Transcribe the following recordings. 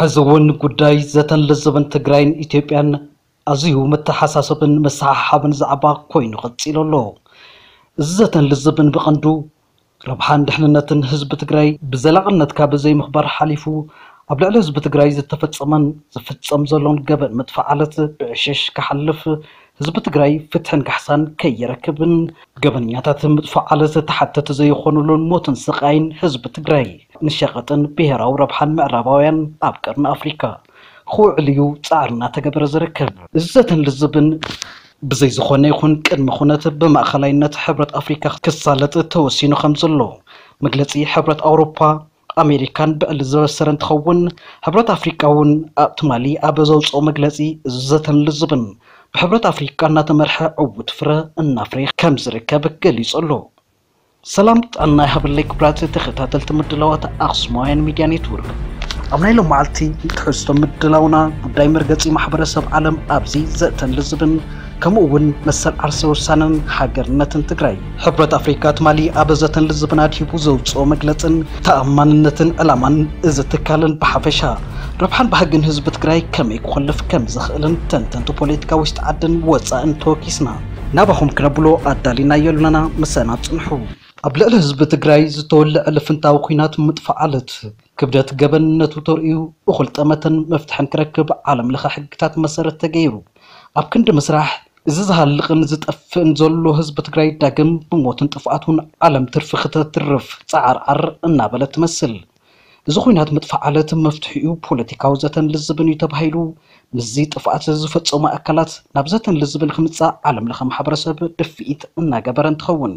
ሕዚ እውን ጉዳይ ዘተን ልዝብን ትግራይን ኢትዮጵያን ኣዝዩ መተሓሳሰብን መሰሓሓብን ዛዕባ ኮይኑ ቀፂሉ ኣሎ። እዚ ዘተን ልዝብን ብቐንዱ ረብሓን ድሕንነትን ህዝቢ ትግራይ ብዘላቕነት ካብ ዘይምኽባር ሓሊፉ ኣብ ልዕሊ ህዝቢ ትግራይ ዝተፈፀመን ዝፍፀም ዘሎን ገበን መጥፋዓለት ብዕሸሽ ክሓልፍ፣ ህዝቢ ትግራይ ፍትሕን ካሕሳን ከይረክብን ገበነኛታት ምጥፋዓለት ተሓተቲ ዘይኾኑሉን ሞትን ስቓይን ህዝቢ ትግራይ ንሸቐጥን ብሄራዊ ረብሓን ምዕራባውያን ኣብ ቀርኒ ኣፍሪካ ክውዕል እዩ ፃዕሪ እናተገበረ ዝርከብ። እዚ ዘተን ልዝብን ብዘይ ዝኾነ ይኹን ቅድመ ኩነት ብማእኸላይነት ሕብረት ኣፍሪካ ክሳለጥ ተወሲኑ ከም ዘሎ መግለፂ ሕብረት ኣውሮፓ ኣሜሪካን ብዕሊ ዝበሰረ እንትኸውን፣ ሕብረት ኣፍሪካ እውን ኣብ ትማሊ ኣብ ዘውፅኦ መግለፂ እዚ ዘተን ልዝብን ብሕብረት ኣፍሪካ እናተመርሐ ዕውት ፍረ እናፍረየ ከም ዝርከብ ገሊፁ ኣሎ። ሰላም ጥዕና ይሃበለይ ክቡራት ተኸታተልቲ ምድላዋት ኣኽሱማውያን ሚድያ ኔትወርክ። ኣብ ናይ ሎማዓልቲ ትሕዝቶ ምድላውና ጉዳይ መርገፂ ማሕበረሰብ ዓለም ኣብዚ ዘተን ልዝብን ከምኡ እውን መሰል ዓርሰ ውሳነን ሃገርነትን ትግራይ። ሕብረት ኣፍሪካ ትማሊ ኣብ ዘተን ልዝብን ኣድሂቡ ዘውፅኦ መግለፅን ተኣማንነትን ዕላማን እዚ ትካልን ብሓፈሻ ረብሓን ባህግን ህዝቢ ትግራይ ከመይ ክኾልፍ ከም ዝኽእልን ተንተንቲ ፖለቲካ ውሽጢ ዓድን ወፃእን ተወኪስና ናባኹም ክነብሎ ኣዳሊናዮ ኣለና። ምሳና ፅንሑ። ኣብ ልዕሊ ህዝቢ ትግራይ ዝተወልዐ ልፍንታዊ ኲናት ምጥፋዓለት ክብደት ገበንነቱ ተርእዩ እኹል ጠመተን መፍትሕን ክረክብ ዓለም ለኸ ሕግታት መሰረት ተገይሩ ኣብ ክንዲ ምስራሕ፣ እዚ ዝሃልቕን ዝጠፍእን ዘሎ ህዝቢ ትግራይ ዳግም ብሞትን ጥፍኣቱን ዓለም ትርፊ ክተትርፍ ፃዓርዓር እናበለት ትመስል። እዚ ኹናት ምጥፋእ ዓለት መፍትሒኡ ፖለቲካዊ ዘተን ልዝብን እዩ ተባሂሉ፣ ምስዚ ጥፍኣት ዝፈፀሙ ኣካላት ናብ ዘተን ልዝብን ክምፃእ ዓለም ለኸ ማሕበረሰብ ድፍኢት እናገበረ እንትኸውን፣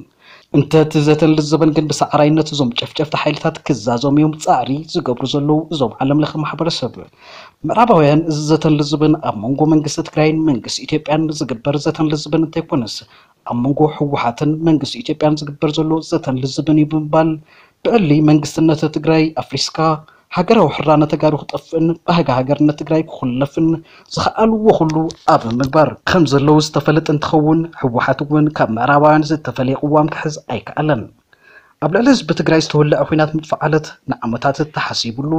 እንተ እቲ ዘተን ልዝብን ግን ብሳዕራይነት እዞም ጨፍጨፍቲ ሓይልታት ክዛዘሙ እዮም ፃዕሪ ዝገብሩ ዘለዉ እዞም ዓለም ለኸ ማሕበረሰብ። ምዕራባውያን እዚ ዘተን ልዝብን ኣብ መንጎ መንግስቲ ትግራይን መንግስቲ ኢትዮጵያን ዝግበር ዘተን ልዝብን እንተይኮነስ ኣብ መንጎ ህወሓትን መንግስቲ ኢትዮጵያን ዝግበር ዘሎ ዘተን ልዝብን እዩ ብምባል ብዕሊ መንግስትነት ትግራይ ኣፍሪስካ ሃገራዊ ሕራነ ተጋሩ ክጠፍእን ባህጊ ሃገርነት ትግራይ ክኹለፍን ዝኸኣልዎ ኩሉ ኣብ ምግባር ከም ዘለዉ ዝተፈለጠ እንትኸውን፣ ህወሓት እውን ካብ ምዕራባውያን ዝተፈለየ ቅዋም ክሕዝ ኣይከኣለን። ኣብ ልዕሊ ህዝቢ ትግራይ ዝተወለዐ ኲናት ምጥፋእ ዓለት ንዓመታት ተሓሲቡሉ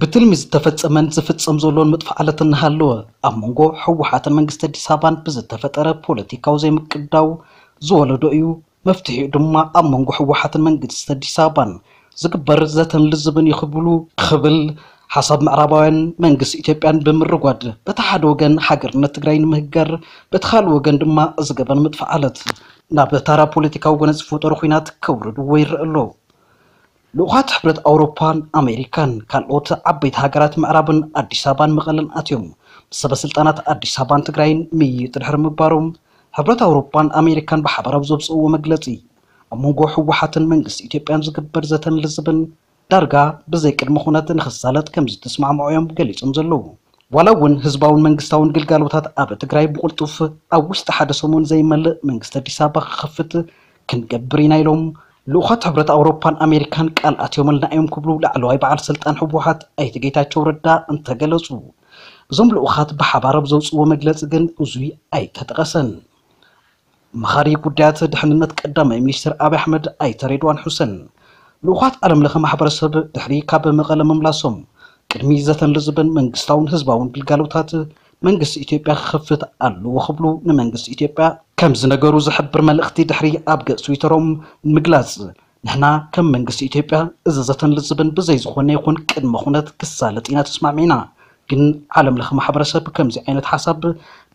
ብትልሚ ዝተፈጸመን ዝፍጸም ዘሎን ምጥፋእ ዓለት እናሃለወ ኣብ መንጎ ህወሓትን መንግስቲ ኣዲስ ኣበባን ብዝተፈጠረ ፖለቲካዊ ዘይምቅዳው ዝወለዶ እዩ። መፍትሒኡ ድማ ኣብ መንጎ ህወሓትን መንግስቲ ኣዲስ ኣበባን ዝግበር ዘተን ልዝብን እዩ ክብሉ ክብል ሓሳብ ምዕራባውያን መንግስቲ ኢትዮጵያን ብምርጓድ በቲ ሓደ ወገን ሃገርነት ትግራይ ንምህገር በቲ ካልእ ወገን ድማ እዚ ገበን ምጥፋእ ዓለት ናብ ታራ ፖለቲካዊ ጎነፂ ዝፈጠሩ ኲናት ከውርድዎ ይረአ ኣሎ። ልኡኻት ሕብረት ኣውሮፓን ኣሜሪካን ካልኦት ዓበይቲ ሃገራት ምዕራብን ኣዲስ ኣበባን መቐለን ኣትዮም ምስ ሰበ ስልጣናት ኣዲስ ኣበባን ትግራይን ምይይጥ ድሕሪ ምግባሮም ሕብረት ኣውሮፓን ኣሜሪካን ብሓባር ኣብ ዘውፅእዎ መግለፂ ኣብ መንጎ ህወሓትን መንግስቲ ኢትዮጵያን ዝግበር ዘተን ልዝብን ዳርጋ ብዘይ ቅድመ ኩነት ንኽሳለጥ ከም ዝተስማዕምዑ እዮም ገሊጾም ዘለዉ። ዋላ እውን ህዝባውን መንግስታውን ግልጋሎታት ኣብ ትግራይ ብቕልጡፍ ኣብ ውሽጢ ሓደ ሰሙን ዘይመልእ መንግስቲ ኣዲስ ኣበባ ክኸፍት ክንገብር ኢና ኢሎም ልኡኻት ሕብረት ኣውሮፓን ኣሜሪካን ቃል ኣትዮምልና እዮም ክብሉ ላዕለዋይ በዓል ስልጣን ህወሓት ኣይተ ጌታቸው ረዳ እንተገለጹ። እዞም ልኡኻት ብሓባር ኣብ ዘውፅዎ መግለፂ ግን እዙይ ኣይተጠቐሰን። መኻሪ ጉዳያት ድሕንነት ቀዳማይ ሚኒስትር ኣብይ ኣሕመድ ኣይተ ሬድዋን ሑሰን ልኡኻት ዓለም ለኸ ማሕበረሰብ ድሕሪ ካብ መቐለ ምምላሶም ቅድሚ ዘተን ልዝብን መንግስታውን ህዝባውን ግልጋሎታት መንግስቲ ኢትዮጵያ ክኸፍት ኣለዎ ክብሉ ንመንግስቲ ኢትዮጵያ ከም ዝነገሩ ዝሕብር መልእኽቲ ድሕሪ ኣብ ገጽ ትዊተሮም ምግላጽ ንሕና ከም መንግስቲ ኢትዮጵያ እዚ ዘተን ልዝብን ብዘይ ዝኾነ ይኹን ቅድመ ኩነት ክሳለጥ ኢና ተስማዕሚዕና። ግን ዓለም ለኸ ማሕበረሰብ ከምዚ ዓይነት ሓሳብ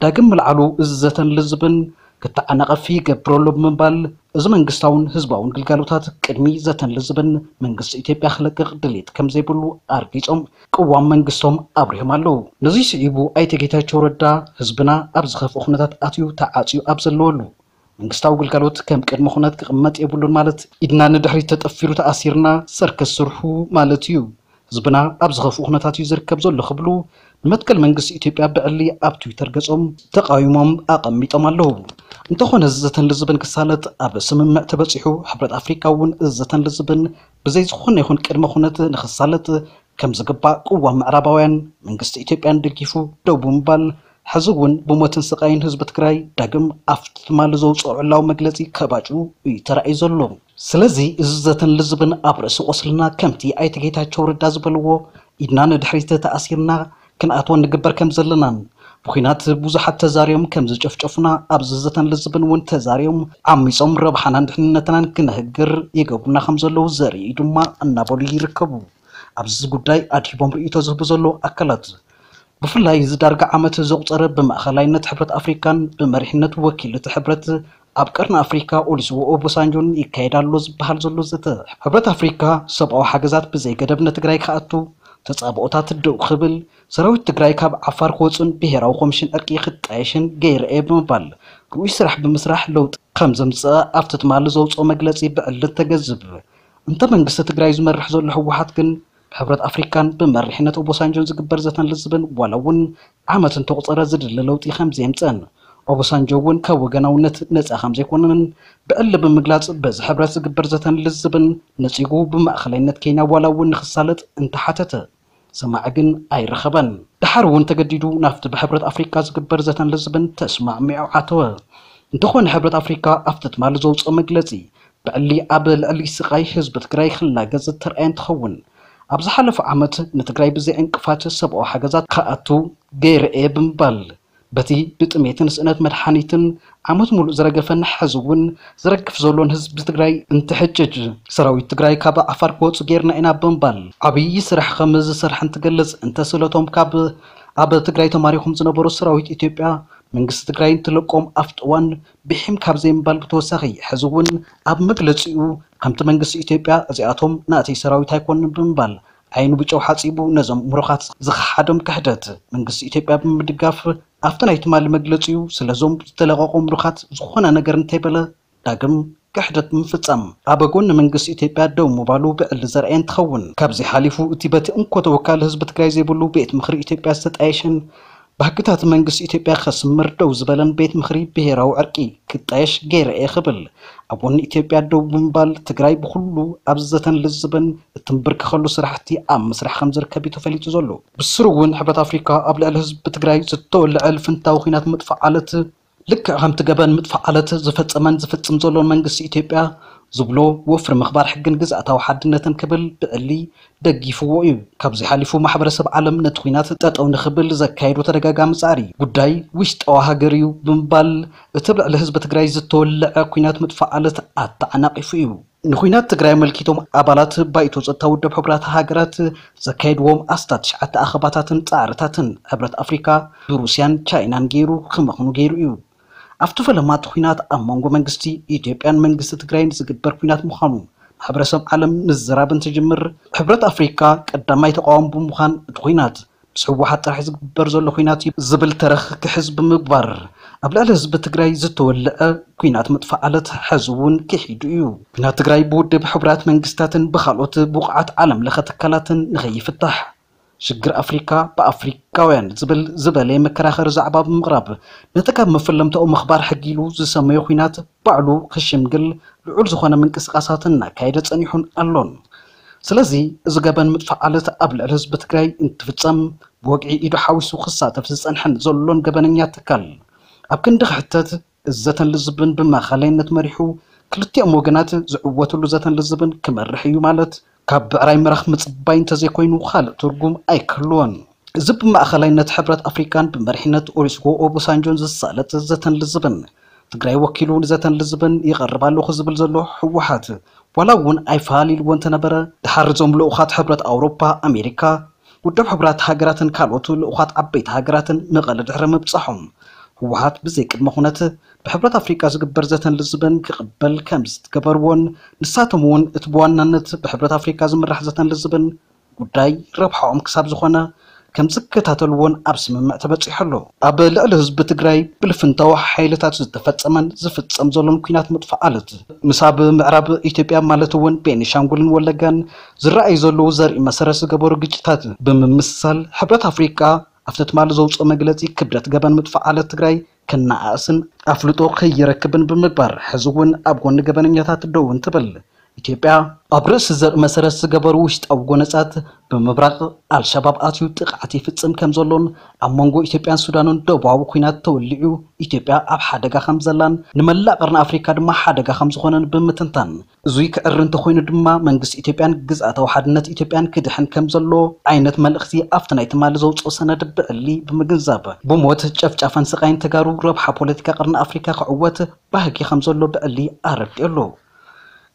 ዳግም ምልዓሉ እዚ ዘተን ልዝብን ክተዓናቐፍ ይገብር ኣሎ ብምባል እዚ መንግስታውን ህዝባውን ግልጋሎታት ቅድሚ ዘተን ልዝብን መንግስቲ ኢትዮጵያ ክለቅቕ ድሌት ከም ዘይብሉ ኣርጊጾም ቅዋም መንግስቶም ኣብሪሆም ኣለዉ። ነዚ ስዒቡ ኣይተ ጌታቸው ረዳ ህዝብና ኣብ ዝኸፍኦ ኩነታት ኣትዩ ተዓፅዩ ኣብ ዘለወሉ መንግስታዊ ግልጋሎት ከም ቅድመ ኩነት ክቕመጥ የብሉን ማለት ኢድና ንድሕሪት ተጠፊሩ ተኣሲርና ሰርከስ ስርሑ ማለት እዩ። ህዝብና ኣብ ዝኸፍኡ ኩነታት እዩ ዝርከብ ዘሎ ክብሉ ንመትከል መንግስቲ ኢትዮጵያ ብዕሊ ኣብ ትዊተር ገጾም ተቃዊሞም ኣቐሚጦም ኣለዉ። እንተኾነ እዚ ዘተን ልዝብን ክሳለጥ ኣብ ስምምዕ ተበጺሑ ሕብረት ኣፍሪካ እውን እዚ ዘተን ልዝብን ብዘይ ዝኾነ ይኹን ቅድመ ኩነት ንኽሳለጥ ከም ዝግባእ ቅዋም ምዕራባውያን መንግስቲ ኢትዮጵያን ደጊፉ ደው ብምባል ሕዚ እውን ብሞትን ስቃይን ህዝቢ ትግራይ ዳግም ኣብቲ ትማሊ ዘውፅኦ ዕላዊ መግለፂ ከባጭ እዩ ተራእዩ ዘሎ። ስለዚ እዚ ዘተን ልዝብን ኣብ ርእሲ ቁስልና ከምቲ ኣይተ ጌታቸው ረዳ ዝበልዎ ኢድና ንድሕሪት ተኣሲርና ክንኣትዎ ንግበር ከም ዘለናን፣ ብኹናት ብዙሓት ተዛርዮም ከም ዝጨፍጨፉና ኣብዚ ዘተን ልዝብን እውን ተዛርዮም ዓሚጾም ረብሓናን ድሕንነትናን ክነህግር ይገብሩና ከም ዘለዉ ዘርኢ ድማ እናበሉ ይርከቡ። ኣብዚ ጉዳይ ኣድሂቦም ርእይቶ ዝህቡ ዘለዉ ኣካላት፣ ብፍላይ እዚ ዳርጋ ዓመት ዘቑጸረ ብማእኸላይነት ሕብረት ኣፍሪካን ብመሪሕነት ወኪል እቲ ሕብረት ኣብ ቀርኒ ኣፍሪካ ኦሉሰጉን ኦባሳንጆን ይካየድ ኣሎ ዝበሃል ዘሎ ዘተ፣ ሕብረት ኣፍሪካ ሰብኣዊ ሓገዛት ብዘይገደብ ንትግራይ ክኣቱ፣ ተጻብኦታት ደው ክብል፣ ሰራዊት ትግራይ ካብ ዓፋር ክወፁን ብሄራዊ ኮሚሽን ዕርቂ ክጣየሽን ገይረ እየ ብምባል ርኡይ ስራሕ ብምስራሕ ለውጢ ከም ዘምፀአ ኣብቲ ትማሊ ዘውፅኦ መግለፂ ብዕሊ ተገዝብ። እንተ መንግስቲ ትግራይ ዝመርሕ ዘሎ ህወሓት ግን ብሕብረት ኣፍሪካን ብመሪሕነት ኦቦሳንጆን ዝግበር ዘተን ልዝብን ዋላ እውን ዓመት እንተቑፀረ ዝድለ ለውጢ ከም ዘየምፀን፣ ኦቦሳንጆ እውን ካብ ወገናውነት ነፃ ከም ዘይኮነንን ብዕሊ ብምግላፅ በዚ ሕብረት ዝግበር ዘተን ልዝብን ነፂጉ ብማእኸላይነት ኬንያ ዋላ እውን ንክሳለጥ እንተሓተተ ሰማዒ ግን ኣይረኸበን። ደሓር እውን ተገዲዱ ናብቲ ብሕብረት ኣፍሪካ ዝግበር ዘተን ልዝብን ተስማዕሚዑ ኣተወ። እንተኾነ ሕብረት ኣፍሪካ ኣብቲ ትማሊ ዘውፅኦ መግለፂ ብዕሊ ኣብ ልዕሊ ስቓይ ህዝቢ ትግራይ ክላገፅ ዝተርኣየ እንትኸውን ኣብ ዝሓለፈ ዓመት ንትግራይ ብዘይ ዕንቅፋት ሰብኣዊ ሓገዛት ክኣቱ ገይረ እየ ብምባል በቲ ብጥሜትን ስእነት መድሓኒትን ዓመት ሙሉእ ዝረገፈን ሕዚ እውን ዝረግፍ ዘሎን ህዝቢ ትግራይ እንትሕጅጅ ሰራዊት ትግራይ ካብ ዓፋር ክወፁ ገይርና ኢና ብምባል ዓብዪ ስራሕ ከም ዝሰርሐ እንትገልፅ እንተስእለቶም ካብ ኣብ ትግራይ ተማሪኾም ዝነበሩ ሰራዊት ኢትዮጵያ መንግስቲ ትግራይ እንትለቆም ኣብቲ እዋን ብሒም ካብ ዘይምባል ብተወሳኺ ሕዚ እውን ኣብ መግለፂኡ ከምቲ መንግስቲ ኢትዮጵያ እዚኣቶም ናእተይ ሰራዊት ኣይኮኑን ብምባል ዓይኑ ብጨው ሓፂቡ ነዞም ምሩኻት ዝኸሓዶም ክሕደት መንግስቲ ኢትዮጵያ ብምድጋፍ ኣብቲ ናይ ትማሊ መግለፂኡ ስለዞም ዝተለቐቑ ምሩኻት ዝኾነ ነገር እንተይበለ ዳግም ክሕደት ብምፍፃም ኣብ ጎኒ መንግስቲ ኢትዮጵያ ደው ምባሉ ብዕሊ ዘርኣየ እንትኸውን ካብዚ ሓሊፉ እቲ በቲ እንኮ ተወካሊ ህዝቢ ትግራይ ዘይብሉ ቤት ምኽሪ ኢትዮጵያ ዝተጣየሸን ብሕግታት መንግስቲ ኢትዮጵያ ከስምር ደው ዝበለን ቤት ምኽሪ ብሄራዊ ዕርቂ ክጣየሽ ገይረ እየ ክብል ኣብ ጎኒ ኢትዮጵያ ደው ብምባል ትግራይ ብኩሉ ኣብዚ ዘተን ልዝብን እትንብርከኸሉ ስራሕቲ ኣብ ምስራሕ ከም ዝርከብ እዩ ተፈሊጡ ዘሎ። ብስሩ እውን ሕብረት ኣፍሪካ ኣብ ልዕሊ ህዝቢ ትግራይ ዝተወልዐ ልፍንታዊ ኲናት ምጥፋእ ዓለት ልክዕ ከምቲ ገበን ምጥፋእ ዓለት ዝፈጸመን ዝፍጽም ዘሎን መንግስቲ ኢትዮጵያ ዝብሎ ወፍሪ ምኽባር ሕግን ግዝኣታዊ ሓድነትን ክብል ብዕሊ ደጊፍዎ እዩ። ካብዚ ሓሊፉ ማሕበረሰብ ዓለም ነቲ ኲናት ጠጠው ንኽብል ዘካየዶ ተደጋጋሚ ጻዕሪ ጉዳይ ውሽጣዊ ሃገር እዩ ብምባል እቲ ኣብ ልዕሊ ህዝቢ ትግራይ ዝተወለዐ ኲናት ምጥፋእ ዓለት ኣተዓናቒፉ እዩ። ንኹናት ትግራይ ኣመልኪቶም ኣባላት ባይቶ ጸጥታ ውድብ ሕቡራት ሃገራት ዘካየድዎም ኣስታት ትሽዓተ ኣኸባታትን ጻዕርታትን ሕብረት ኣፍሪካ ብሩስያን ቻይናን ገይሩ ክመኽኑ ገይሩ እዩ። ኣብቲ ፈለማ እቲ ኹናት ኣብ መንጎ መንግስቲ ኢትዮጵያን መንግስቲ ትግራይን ዝግበር ኹናት ምዃኑ ማሕበረሰብ ዓለም ምዝራብ እንትጅምር ሕብረት ኣፍሪካ ቀዳማይ ተቃዋሚ ብምዃን እቲ ኹናት ምስ ህወሓት ጥራሕ ዝግበር ዘሎ ኲናት እዩ ዝብል ተረኽ ክሕዝ ብምግባር ኣብ ልዕሊ ህዝቢ ትግራይ ዝተወልዐ ኲናት ምጥፋእ ዓለት ሕዚ እውን ክሒዱ እዩ። ኲናት ትግራይ ብውድብ ሕቡራት መንግስታትን ብካልኦት ብቑዓት ዓለም ለኸ ትካላትን ንኸይፍታሕ ሽግር ኣፍሪካ ብኣፍሪካውያን ዝብል ዝበለ መከራኸሪ ዛዕባ ብምቕራብ ነቲ ካብ መፈለምታኡ ምኽባር ሕጊ ኢሉ ዝሰመዮ ኲናት ባዕሉ ክሽምግል ልዑል ዝኾነ ምንቅስቃሳት እናካየደ ጸኒሑን ኣሎን። ስለዚ እዚ ገበን ምጥፋእ ዓለት ኣብ ልዕሊ ህዝቢ ትግራይ እንትፍጸም ብወግዒ ኢዱ ሓዊሱ ክሳተፍ ዝጸንሐን ዘሎን ገበነኛ ትካል ኣብ ክንዲ ክሕተት እዚ ዘተን ልዝብን ብማእኸላይነት መሪሑ ክልቲኦም ወገናት ዝዕወትሉ ዘተን ልዝብን ክመርሕ እዩ ማለት ካብ ብዕራይ ምራኽ ምጽባይ እንተዘይኮይኑ ካልእ ትርጉም ኣይክህልዎን። እዚ ብማእኸላይነት ሕብረት ኣፍሪካን ብመሪሕነት ኦሉሰጉን ኦባሳንጆን ዝሳለጥ ዘተን ልዝብን ትግራይ ወኪሉ ንዘተን ልዝብን ይቐርብ ኣለኹ ዝብል ዘሎ ህወሓት ዋላ እውን ኣይፋል ኢልዎ እንተነበረ ድሓር እዞም ልኡኻት ሕብረት ኣውሮፓ ኣሜሪካ ውድብ ሕቡራት ሃገራትን ካልኦት ልኡኻት ዓበይቲ ሃገራትን መቐለ ድሕሪ ምብጻሖም ህወሓት ብዘይ ቅድመ ኩነት ብሕብረት ኣፍሪቃ ዝግበር ዘተን ልዝብን ክቕበል ከም ዝገበርዎን ንሳቶም እውን እቲ ብዋናነት ብሕብረት ኣፍሪቃ ዝምራሕ ዘተን ልዝብን ጉዳይ ረብሓኦም ክሳብ ዝኾነ ከም ዝከታተልዎን ኣብ ስምምዕ ተበጺሑ ኣሎ። ኣብ ልዕሊ ህዝቢ ትግራይ ብልፍንታዊ ሓይልታት ዝተፈጸመን ዝፍጸም ዘሎን ኲናት ምጥፋእ ዓለት ምስ ኣብ ምዕራብ ኢትዮጵያ ማለት እውን ቤኒሻንጉልን ወለጋን ዝረኣዩ ዘለዉ ዘርኢ መሰረት ዝገበሩ ግጭታት ብምምስሳል ሕብረት ኣፍሪቃ ኣብቲ ትማሊ ዘውፅኦ መግለፂ ክብደት ገበን ምጥፋእ ዓለት ትግራይ ክነኣእስን ኣፍልጦ ከይረክብን ብምግባር ሕዚ እውን ኣብ ጎኒ ገበነኛታት ደው እንትብል ኢትዮጵያ ኣብ ርእሲ ዘርኢ መሰረት ዝገበሩ ውሽጣዊ ጎነጻት ብምብራቕ ኣልሸባብ ኣትዩ ጥቕዓት ይፍጽም ከም ዘሎን ኣብ መንጎ ኢትዮጵያን ሱዳንን ደቡባዊ ኲናት ተወሊዑ ኢትዮጵያ ኣብ ሓደጋ ከም ዘላን ንመላእ ቀርኒ ኣፍሪካ ድማ ሓደጋ ከም ዝኾነን ብምትንታን እዙይ ክዕሪ እንተኾይኑ ድማ መንግስቲ ኢትዮጵያን ግዝኣታዊ ሓድነት ኢትዮጵያን ክድሕን ከም ዘሎ ዓይነት መልእኽቲ ኣብቲ ናይ ትማሊ ዘውፅኦ ሰነድ ብዕሊ ብምግንዛብ ብሞት ጨፍጫፈን ስቃይን ተጋሩ ረብሓ ፖለቲካ ቀርኒ ኣፍሪካ ክዕወት ባህጊ ከም ዘሎ ብዕሊ ኣረዲኡ ኣሎ።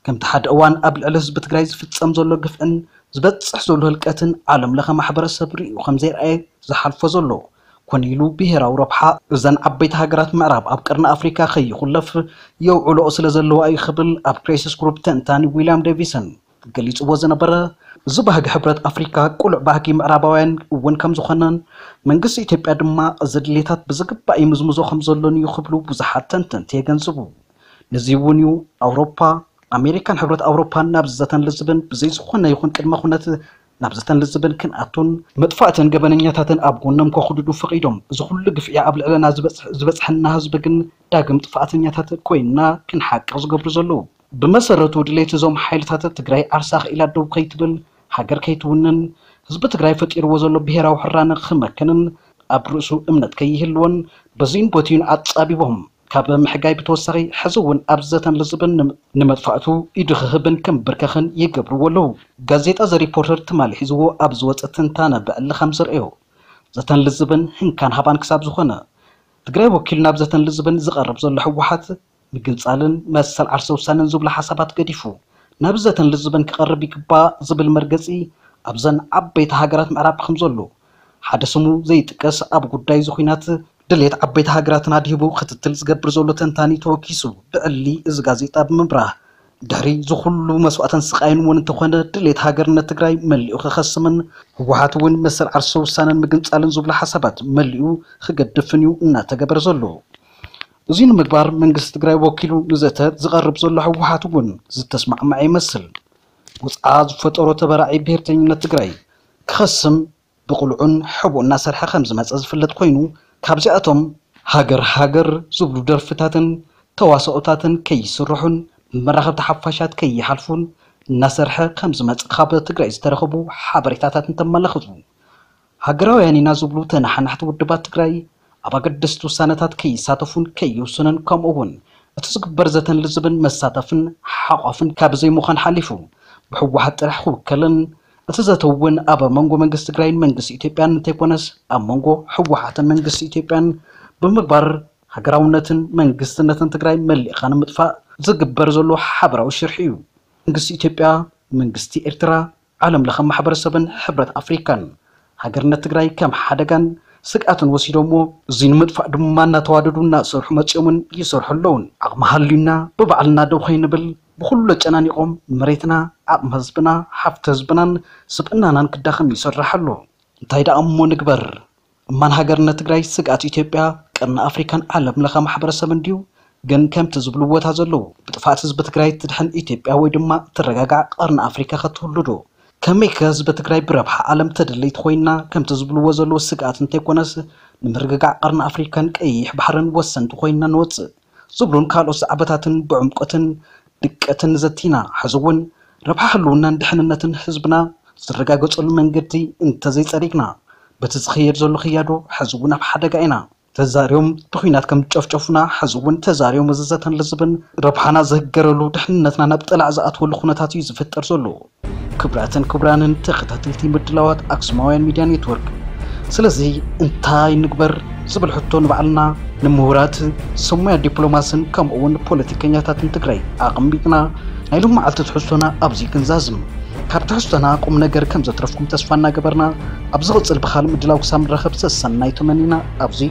ከምቲ ሓደ እዋን ኣብ ልዕሊ ህዝቢ ትግራይ ዝፍጸም ዘሎ ግፍዕን ዝበጽሕ ዘሎ ህልቀትን ዓለም ለኸ ማሕበረሰብ ርእዩ ከም ዘይረኣየ ዝሓልፎ ዘሎ ኮነ ኢሉ ብሄራዊ ረብሓ እዘን ዓበይቲ ሃገራት ምዕራብ ኣብ ቀርኒ ኣፍሪካ ከይኹለፍ የውዕልኦ ስለ ዘለዋ እዩ ክብል ኣብ ክራይሲስ ግሩፕ ተንታኒ ዊልያም ዴቪሰን ገሊጽዎ ዝነበረ እዚ ባህጊ ሕብረት ኣፍሪካ ቅሉዕ ባህጊ ምዕራባውያን እውን ከም ዝኾነን መንግስቲ ኢትዮጵያ ድማ እዚ ድሌታት ብዝግባእ ይምዝምዞ ከም ዘሎን እዩ ክብሉ ብዙሓት ተንተንቲ የገንዝቡ። ነዚ እውን እዩ ኣውሮፓ ኣሜሪካን ሕብረት ኣውሮፓን ናብ ዘተን ልዝብን ብዘይ ዝኾነ ይኹን ቅድመ ኩነት ናብ ዘተን ልዝብን ክንኣቱን መጥፋእትን ገበነኛታትን ኣብ ጎኖም ከኹድዱ ፈቒዶም እዚ ኩሉ ግፍዒ ኣብ ልዕለና ዝበፅሐና ህዝቢ ግን ዳግም ጥፋእተኛታት ኮይንና ክንሓቅቕ ዝገብሩ ዘለዉ። ብመሰረቱ ድሌት እዞም ሓይልታት ትግራይ ዓርሳ ክኢላ ደው ከይትብል ሃገር ከይትውንን ህዝቢ ትግራይ ፈጢርዎ ዘሎ ብሄራዊ ሕራነ ክመክንን ኣብ ርእሱ እምነት ከይህልዎን በዚን ቦቲን ኣጻቢቦም ካብ ምሕጋይ ብተወሳኺ ሕዚ እውን ኣብ ዘተን ልዝብን ንመጥፋእቱ ኢዱ ክህብን ክምብርከኽን ይገብርዎ ኣለዉ። ጋዜጣ ዘ ሪፖርተር ትማሊ ሒዝዎ ኣብ ዝወፀ ትንታነ ብዕሊ ከም ዘርእዮ ዘተን ልዝብን ህንካን ሃባን ክሳብ ዝኾነ ትግራይ ወኪሉ ናብ ዘተን ልዝብን ዝቐርብ ዘሎ ህወሓት ምግንፃልን መሰል ዓርሰ ውሳነን ዝብሉ ሓሳባት ገዲፉ ናብ ዘተን ልዝብን ክቐርብ ይግባእ ዝብል መርገፂ ኣብዘን ዓበይቲ ሃገራት ምዕራብ ከም ዘሎ ሓደ ስሙ ዘይጥቀስ ኣብ ጉዳይ እዚ ኹናት ድሌት ዓበይቲ ሃገራትን ኣድሂቡ ክትትል ዝገብር ዘሎ ተንታኒ ተወኪሱ ብዕሊ እዚ ጋዜጣ ብምብራህ ድሕሪ ዝኹሉ መስዋእትን ስቃይን እውን እንተኾነ ድሌት ሃገርነት ትግራይ መሊኡ ክኸስምን ህወሓት እውን መሰል ዓርሰ ውሳነን ምግንፃልን ዝብሉ ሓሳባት መሊኡ ክገድፍን እዩ እናተገበረ ዘሎ። እዚ ንምግባር መንግስቲ ትግራይ ወኪሉ ንዘተ ዝቐርብ ዘሎ ህወሓት እውን ዝተስማዕመዐ ይመስል። ውፅዓ ዝፈጠሮ ተበራዒ ብሄርተኝነት ትግራይ ክኸስም ብቕልዑን ሕቡእ እናሰርሐ ከም ዝመፀ ዝፍለጥ ኮይኑ ካብዚኣቶም ሃገር ሃገር ዝብሉ ደርፍታትን ተዋስኦታትን ከይስርሑን ብመራኸብቲ ሓፋሻት ከይሓልፉን እናሰርሐ ከም ዝመፀ ካብ ትግራይ ዝተረኸቡ ሓበሬታታት እንተመላኽቱ ሃገራውያን ኢና ዝብሉ ተነሓናሕቲ ውድባት ትግራይ ኣብ ኣገደስቲ ውሳነታት ከይሳተፉን ከይውስኑን ከምኡ እውን እቲ ዝግበር ዘተን ልዝብን መሳተፍን ሓቋፍን ካብ ዘይምዃን ሓሊፉ ብህወሓት ጥራሕ ክውከልን እቲ ዘተ እውን ኣብ መንጎ መንግስቲ ትግራይን መንግስቲ ኢትዮጵያን እንተይኮነስ ኣብ መንጎ ህወሓትን መንግስቲ ኢትዮጵያን ብምግባር ሃገራውነትን መንግስትነትን ትግራይ መሊእኻ ንምጥፋእ ዝግበር ዘሎ ሓበራዊ ሽርሒ እዩ። መንግስቲ ኢትዮጵያ፣ መንግስቲ ኤርትራ፣ ዓለም ለኸ ማሕበረሰብን ሕብረት ኣፍሪካን ሃገርነት ትግራይ ከም ሓደጋን ስግኣትን ወሲዶሞ እዚ ንምጥፋእ ድማ እናተዋደዱ እናሰርሑ መፂኦምን ይሰርሑ ኣለውን። ዓቕሚ ሃልዩና ብባዕልና ደው ከይንብል ብኩሉ ኣጨናኒቖም መሬትና፣ ዓቕሚ ህዝብና፣ ሃፍቲ ህዝብናን ስብእናናን ክዳኸም ይሰርሕ ኣሎ። እንታይ ደኣ እሞ ንግበር? እማን ሃገርነት ትግራይ ስግኣት ኢትዮጵያ፣ ቀርኒ ኣፍሪካን ዓለም ለኸ ማሕበረሰብን ድዩ? ግን ከምቲ ዝብልዎ እታ ዘለዉ ብጥፍኣት ህዝቢ ትግራይ ትድሕን ኢትዮጵያ ወይ ድማ ትረጋጋዕ ቀርኒ ኣፍሪካ ከትህሉ ዶ? ከመይ ከ ህዝቢ ትግራይ ብረብሓ ዓለም ተደለይቲ ኮይንና ከምቲ ዝብልዎ ዘለዉ ስግኣት እንተይኮነስ ንምርግጋዕ ቀርኒ ኣፍሪካን ቀይሕ ባሕርን ወሰንቲ ኮይንና ንወፅእ ዝብሉን ካልኦት ዛዕባታትን ብዕምቆትን ድቀትን ዘቲና ሕዚ እውን ረብሓ ህልውናን ድሕንነትን ህዝብና ዝረጋገፀሉ መንገዲ እንተዘይፀሪግና በቲ ዝኸየድ ዘሎ ክያዶ ሕዚ እውን ኣብ ሓደጋ ኢና። ተዛርዮም ብኹናት ከም ዝጨፍጨፉና ሕዚ እውን ተዛርዮም እዚ ዘተን ልዝብን ረብሓና ዝህገረሉ ድሕንነትና ናብ ጠላዕ ዝኣትወሉ ኩነታት እዩ ዝፍጠር ዘሎ። ክቡራትን ክቡራንን ተኸታተልቲ ምድላዋት ኣክሱማውያን ሚድያ ኔትወርክ ስለዚ እንታይ ንግበር ዝብል ሕቶ ንባዕልና ንምሁራት ሰብ ሞያ ዲፕሎማስን ከምኡ እውን ፖለቲከኛታትን ትግራይ ኣቐሚጥና ናይ ሎም መዓልቲ ትሕዝቶና ኣብዚ ክንዛዝም ካብ ትሕዝቶና ቁም ነገር ከም ዘትረፍኩም ተስፋ እናገበርና ኣብ ዝቕፅል ብኻልእ ምድላው ክሳብ ንራኸብ ሰሰናይ ተመኒና ኣብዚ